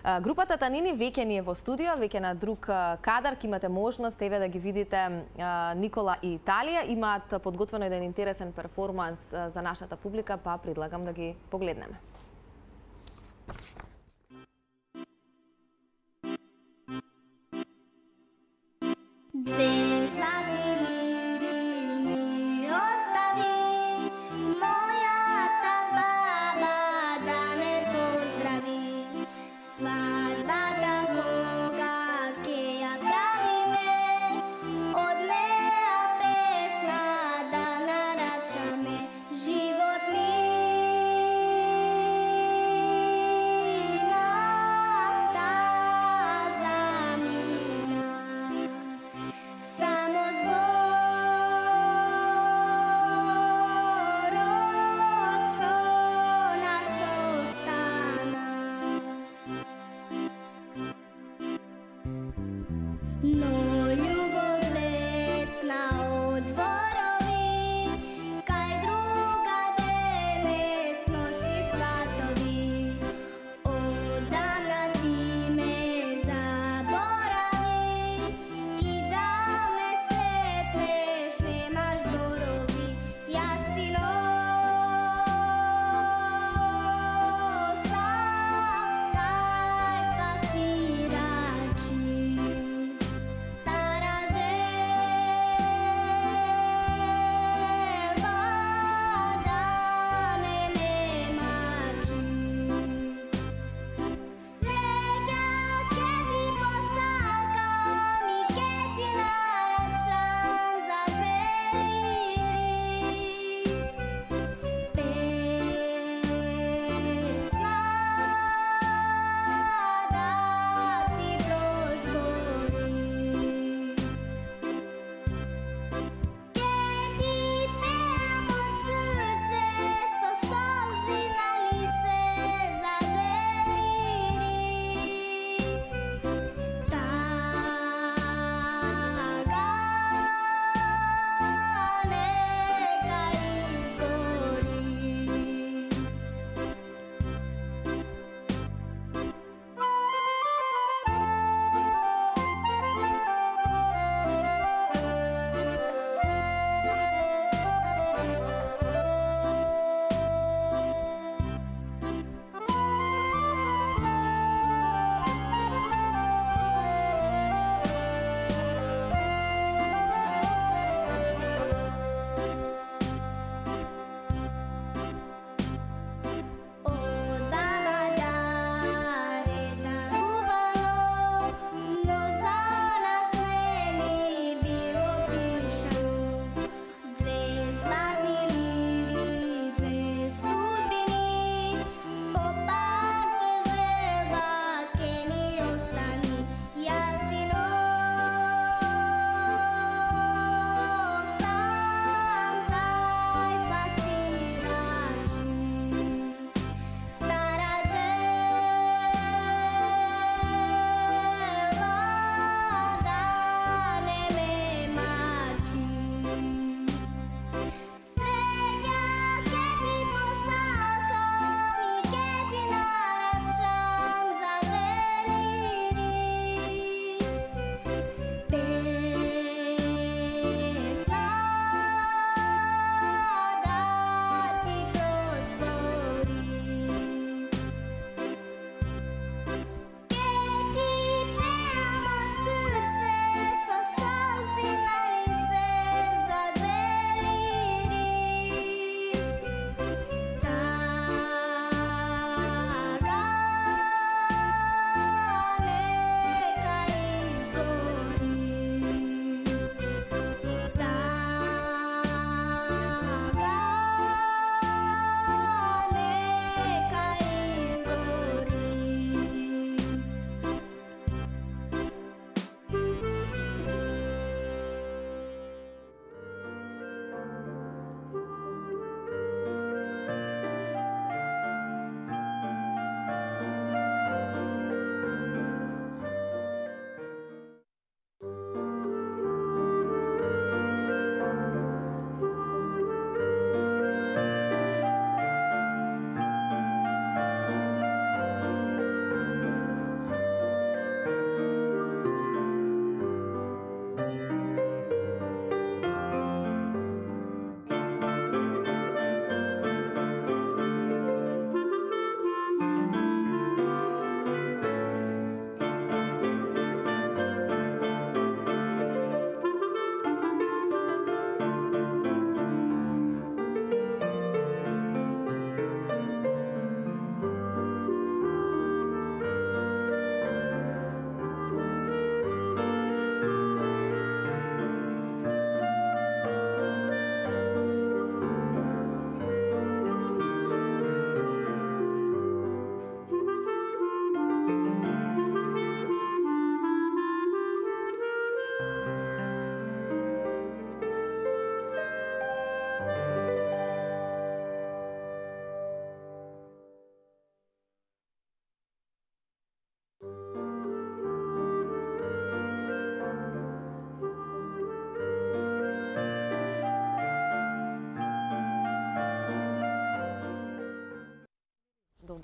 Групата Танини веќе ни е во студио, веќе на друг кадар, ке имате можност еве да ги видите Никола и Италија. Имаат подготвено еден интересен перформанс за нашата публика, па предлагам да ги погледнеме. Две златни лири ми остави, мојата баба да ме поздрави. Свадбата кога ќе ја правиме, од неа песна да нарачаме. Живот мина, таза мина, само зборот со нас остана. Но љубов летна од дворови, кај другаде не сносиш сватови. Одамна ти ме заборави и да ме сретнеш немаш зборови. Јас ти носам тајфа свирачи,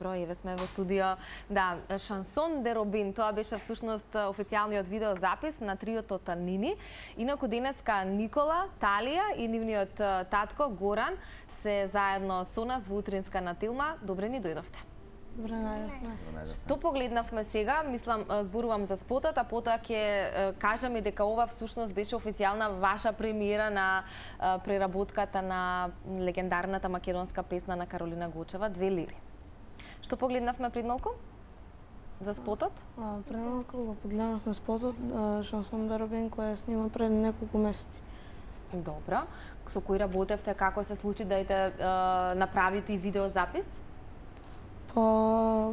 Добро, еве сме во студио. Да, Шансон де Робин, тоа беше всушност официјалниот видеозапис на триото Танини. Инаку денеска Никола, Талија и нивниот татко Горан се заедно со нас во утринска на Тилма. Добре ни дојдовте. Добре најдовме. Што погледнавме сега, мислам, зборувам за спотот, а потоа ќе кажам и дека ова всушност беше официјална ваша премиера на преработката на легендарната македонска песна на Каролина Гочева, Две лири. Што погледнавме пред малку? За спотот? Пред малку го погледнавме спотот Шансон де Робин кој снима пред неколку месеци. Добро. Со кој работевте, како се случи да направите видеозапис? Па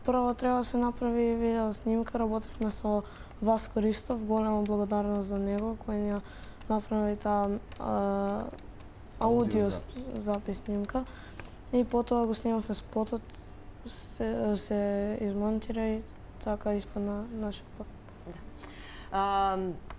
прво треба да се направи видео снимка, работевме со Васко Ристов, голема благодарност за него кој ни направи таа аудио запис снимка и потоа го снимавме спотот, се измонтира и така испадна нашиот спот.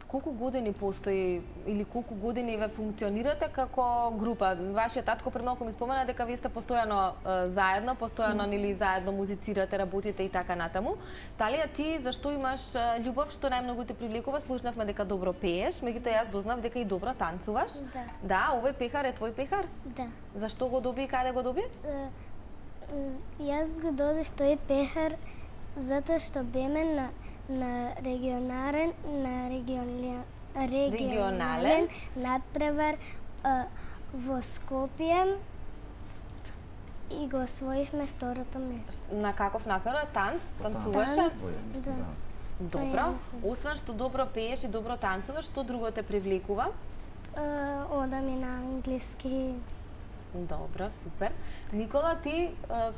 Колку години постои или колку години ве функционирате како група? Вашиот татко пред малку ми спомена дека вие сте постојано заедно, постојано нели заедно музицирате, работите и така натаму. Талија, ти зашто имаш љубов што најмногу те привлекува? Слушнавме дека добро пееш, меѓутоа јас дознав дека и добро танцуваш. Да. Да, овој пехар е твој пехар? Да. Зашто го доби и каде го доби? Јас го добив тој пехар затоа што беме на регионален надпревар во Скопје и го освоивме второто место. На каков надпревар? Танц? Танцуваше? Да. Добро. Освен што добро пееш и добро танцуваш, што друго те привлекува? Одам и на англиски. Добро, супер. Никола, ти,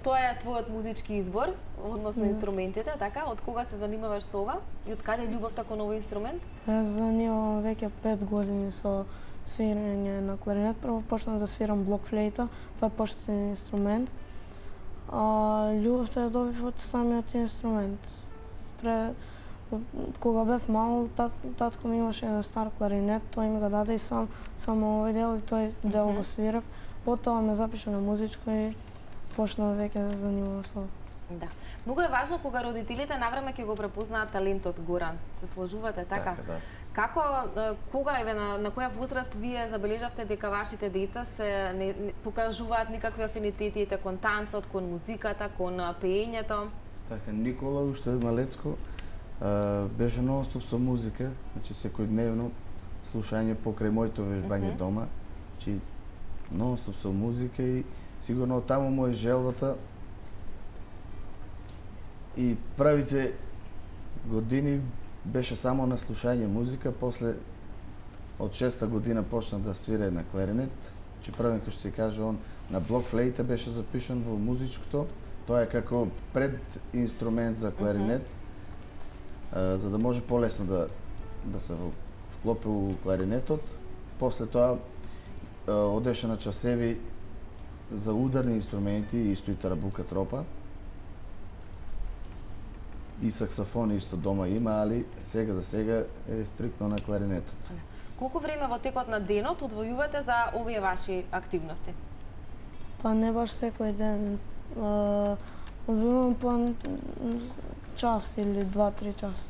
тоа е твојот музички избор, односно инструментите, така? Од кога се занимаваш со ова? И од каде љубовта кон овој инструмент? Јас занимавам веќе 5 години со свирење на кларинет. Прво почнав да свирам блокфлейта, тоа е почетен инструмент. Љубовта ја добив од самиот инструмент. Кога бев мал, татко ми имаше еден стар кларинет, тој ми го даде и само овој дел и тој дел го свирав. Потоа ме запиша на музичко и почнав веќе да се занимавам со ова. Да. Многу е важно кога родителите навреме ќе го препознаат талентот Горан. Се сложувате така? Така, да. Како, кога еве на која возраст вие забележавте дека вашите деца се не покажуваат никакви афинитети кон танцот, кон музиката, кон пеењето? Така, Никола уште малецко беше нонстоп со музика, значи секојдневно слушање покрај моето вежбање дома, значи нонстоп со музика и сигурно таму му е желбата. И правите години беше само на слушање музика, после од 6-та година почна да свире на кларинет, че првен кој што се каже он на блокфлейта беше запишан во музичкото, тоа е како пред инструмент за кларинет, за да може полесно да се вклопи у кларинетот. После тоа одеше на часеви за ударни инструменти, исто и тарабука тропа. И саксофон исто дома има, али сега за сега е стриктно на кларинетот. Колку време во текот на денот одвојувате за овие ваши активности? Па не баш секој ден. Одвојувам по час или 2-3 час.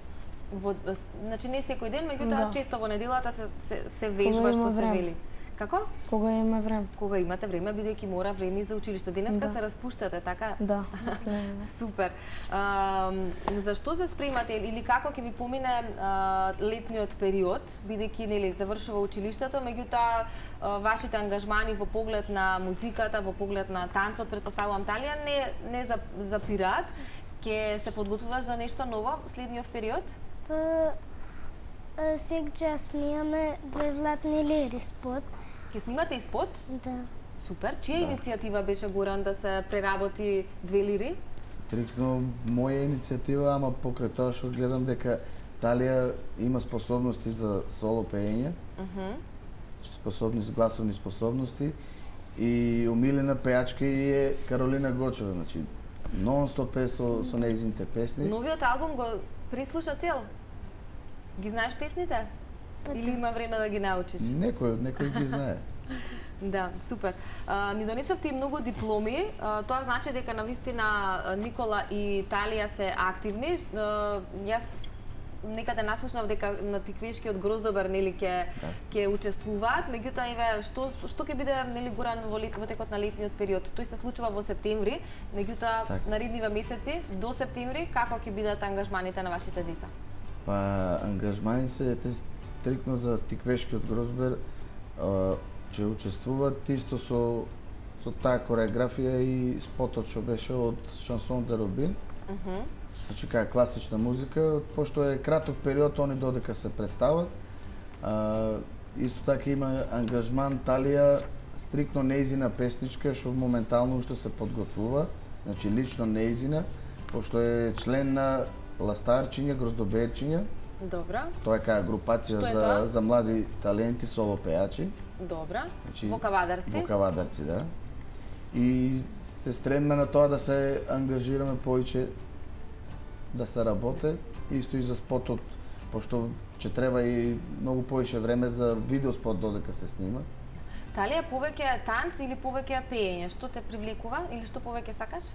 Значи не секој ден, меѓутоа Да. често во неделата се вежба што се време. вели. Како? Кога има време. Кога имате време, бидејќи мора време и за училиште. Денеска Да. се распуштате, така? Да, следно. Супер. Зашто се спремате или како ќе ви помине летниот период, бидејќи нели завршува училиштето, меѓутоа вашите ангажмани во поглед на музиката, во поглед на танцот, претпоставувам Талија, не запираат. Ќе се подготвуваш за нешто ново следниот период? Сега снимаме Две златни лири спот. Ќе снимате и спот? Да. Супер. Чија иницијатива беше, Горан, да се преработи Две лири? Стриктно моја иницијатива, ама покрај тоа што гледам дека Талија има способности за соло пеење, гласовни способности и омилена пеачка и е Каролина Гочева, значи нон-стоп е со нејзините песни. Новиот албум го прислуша цел? Ги знаеш песните? Или има време да ги научиш? Некој ги знае. Да, супер. Ни донесовте и многу дипломи. Тоа значи дека навистина Никола и Талија се активни. Јас некаде наслушнав дека на Тиквешкиот Гроздобар нели ќе учествуваат, меѓутоа еве што ќе биде нели гуран во текот на летниот период. Тој се случува во септември, меѓутоа наредниве месеци до септември како ќе бидат ангажманите на вашите деца? Па ангажмани се стрикно за Тиквешкиот Гроздобар, че учествуваат исто со таа кореографија и спотот што беше од Шансон де Робин. Значи каја класична музика, пошто е краток период, они додека се представат. Исто така има ангажман Талија, стрикно неизина песничка, што моментално уште се подготвува, значи лично неизина, пошто е член на Ластарчиња, Гроздоберчиња. Добра. Тоа е каја групација за млади таленти, соло пејачи. Добра. Значи, во Кавадарци. Во Кавадарци, да. И се стремиме на тоа да се ангажираме повеќе, да се работе, исто и за спотот, пошто ќе треба и многу повеќе време за видеоспот додека се снима. Талија повеќе танц или повеќе пеење? Што те привлекува или што повеќе сакаш?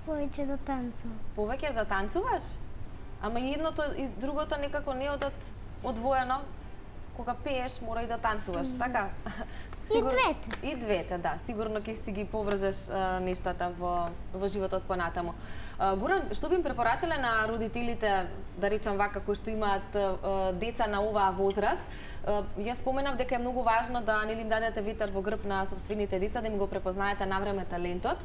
Повеќе да танцувам. Повеќе да танцуваш? Ама и едното и другото некако не одат одвоено. Кога пееш, мора и да танцуваш, така? И двете. И двете, да. Сигурно ќе си ги поврзеш нештата во животот понатаму. Гуран, што би им препорачале на родителите, да речам вака, кои што имаат деца на оваа возраст? Јас споменав дека е многу важно да нели им дадете ветер во грб на сопствените деца, да им го препознаете навреме талентот,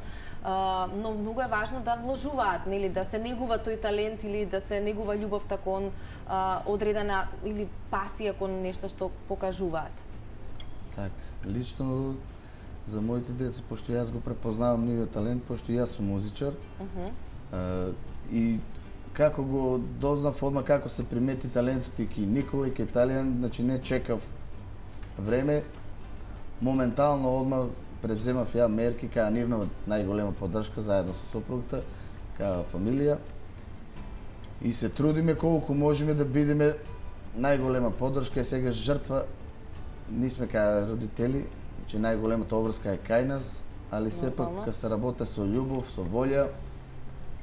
но многу е важно да вложуваат, нели да се негува тој талент или да се негува љубовта кон одредена или пасија кон нешто што покажуваат. Така, лично за моите деца, пошто јас го препознавам нивиот талент, пошто јас сум музичар, и како го дознав одма како се примети талентот и ки Никола и ки Талија, значи не чекав време, моментално одма превземав ја мерки каја нивна најголема поддршка заедно со сопругата, каја фамилија, и се трудиме колку можеме да бидеме најголема поддршка, и сега жртва ние сме кај родители, че најголемата обврска е кај нас, али сепак кога се работи со љубов, со волја,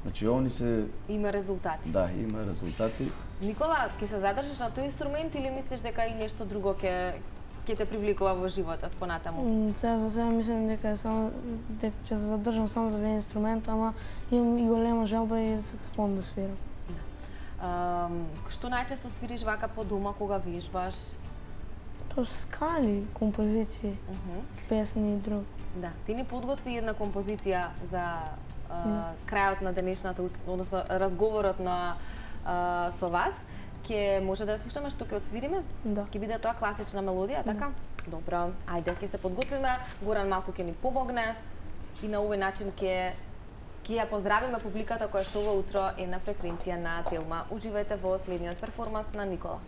значи они се Има резултати. Да, има резултати. Никола, ќе се задржиш на тој инструмент или мислиш дека и нешто друго ќе те привлекува во животот понатаму? Сега за сега мислам дека ќе се задржам само за еден инструмент, ама имам и голема желба и саксофон да свирам. Што најчесто свириш вака по дома кога вежбаш? Скали, композиции, песни и друг. Да, ти ни подготви една композиција за крајот на денешната, односно разговорот со вас. Ќе може да ја слушаме што ќе отсвириме? Да. Ќе биде тоа класична мелодија, така? Добро, ајде, ќе се подготвиме. Горан малку ќе ни помогне и на овој начин ќе ја поздравиме публиката која што во утро е на фреквенција на Телма. Уживајте во следниот перформанс на Никола.